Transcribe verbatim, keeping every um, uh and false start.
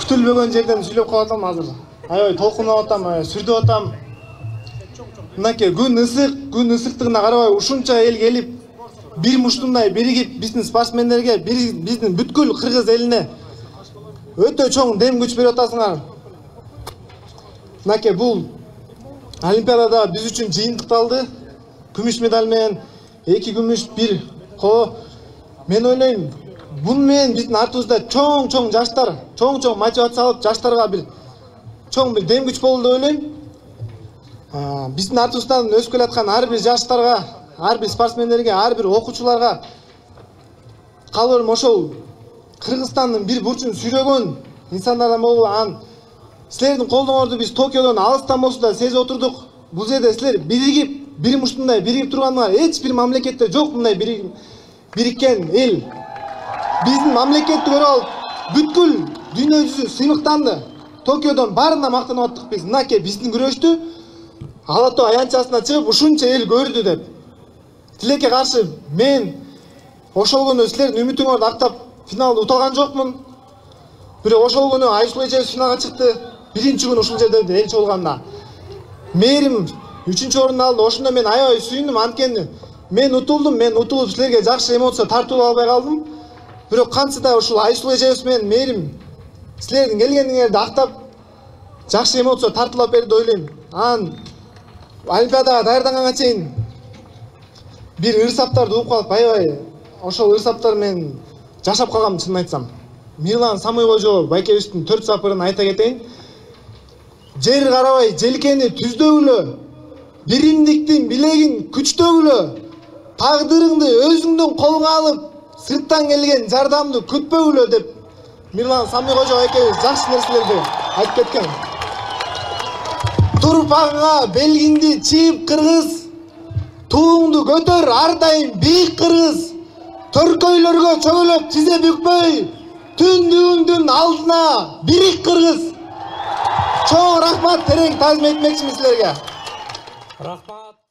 күтүлбөгөн жерден сүйлөп калып атам азыр. Аябай толкунуп атам, сүрдөп атам. Мынакей күн ысык, күн ысыктыгына карабай ушунча эл келип, бир муштундай биригип биздин спортсмендерге, биздин бүткүл кыргыз элине өтө чоң дем күч берип атасыңар. Мынакей бул Олимпиадада биз үчүн жыйынтыкталды. Күмүш медаль менен эки күмүш, бир коло. Мен ойлойм, бул менен биздин артыбызда чоң-чоң жаштар, чоң-чоң мотивация алып, жаштарга бир чоң бир дем күч болду деп ойлойм. Биздин артыбыздан өсүп келаткан ар бир жаштарга, ар бир спортсмендерге, ар бир окуучуларга калбырым ошол Кыргызстандын бир бурчун сүйрөгөн инсандардан болуп, ан силердин колдооңорду биз Токиодон алыстан болсо да сезип отурдук. Бул жерде силер биригип, бир муштундай биригип тургандыгыңар эч бир мамлекетте жок мындай бириккен эл. Биздин мамлекетти көрүп алып, бүткүл дүйнө жүзү сыймыктанды. Токиодон баарына мактанып аттык биз. Мынакей биздин күрөштү Ала Тоо аянтчасына чыгып ушунча эл көрдү деп. Тилекке каршы мен ошол күнү силердин үмүтүңөрдү актап финалда уталган жокмун. Бирок ошол күнү Айсулуу эжебиз финалга чыкты. Биринчи күнү ушул жерде элчи болгонда мээрим үчүнчү орунду алды. Ошондо мен аябай сүйүндүм, анткени мен утулдум, мен утулуп силерге жакшы эмоция тартуулап албай калдым. Бирок кантса да ушул Айсулуу эжебиз менен мээрим силердин келгениңерди актап жакшы эмоция тартуулап берди деп ойлойм. Анан Олимпиадага даярданганга чейин бир ырсаптарды угуп калып, аябай ошол ырсаптар менен жашап калгам, чынын айтсам. Мирлан Самойкожо байкебиздин төрт сапырын айта кетейин. Жер карабай желкени түздөгүлө, биримдиктин билегин күчтөгүлө, тагдырыңды өзүңдүн колуңа алып, сырттан келген жардамды күтпөгүлө деп Мирлан Самойкожо байкебиз жакшы нерселерди айтып кеткен. Турпагыңа белгиңди чийип кыргыз, тууңду көтөр ар дайым бийик кыргыз, төркөйлөргө чөгөлөп тизе бүкпөй, түндүгүңдүн алдына бирик кыргыз. Чоң рахмат, терең таазим этмекчимин силерге. Рахмат.